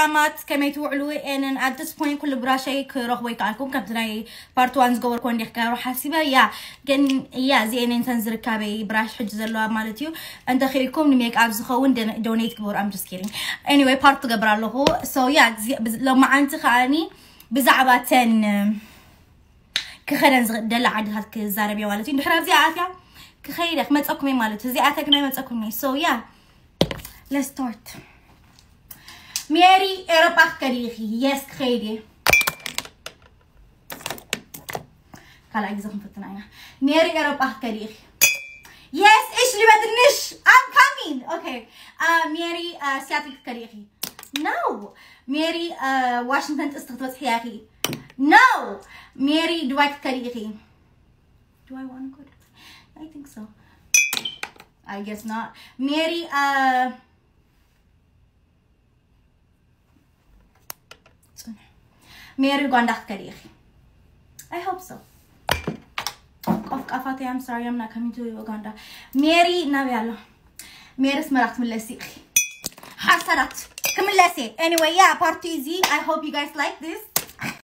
ኣማት ከመይ ትውዕሉ? And at this point ኩሉ ብራሸይ ክረኽቦ ይከኣልኩም። ከምቲ ናይ part one ዝገበርኩ እንዲኽ ክገብሮ ሓሲበ። ያ ግን ያ እዚኤን እንተን ዝርካበይ ብራሽ ሕጂ ዘለዋ ማለት እዩ። እንተኺኢልኩም ንሜክኣፕ ዝኸውን ደነ- donate ግበሩ። I'm just kidding. Anyway part ትገብር ኣለኹ። So ያ ሎማዓንቲ ከኣኒ ብዛዕባ ተን ክኸደን ዝደላ ዓድታት ክዛረብ እየ ማለት እዩ። ድሕሪ ኣብዚኣ ኣትያ ክኸይደ ክመፀኩም እየ ማለት እዩ። እዚኣ ተግና ይመፀኩም እየ። So yeah let's start. ሜሪ ኤሮጳ ክትከዲ ኢኺ? Yes ክኸይድ እየ። ካልኣይ ግዜ ክንፍትና ኢና። ሜሪ ኤሮጳ ክትከዲ ኢኺ? Yes እሽ ልበትንሽ። I'm coming. Okay. ሜሪ ሲያትል ክትከዲ ኢኺ? No. ሜሪ ዋሽንግተን ጥስቲ ክትበፅሒ ኢኺ? No. ሜሪ ዱባይ ክትከዲ ኢኺ? Do I want to go to Dubai? I think so. I guess not. ሜሪ ሜሪ ኡጋንዳ ክትከዲ ኢኺ? I hope so. ቆፍቃፋተይ I'm sorry I'm not coming to Uganda. ሜሪ ናበይ ኣሎ? ሜሪ ኣስመራ ክትምለሲ ኢኺ? ሓሳዳት ክምለስ እየ። Anyway yeah part two እዚ. I hope you guys like this.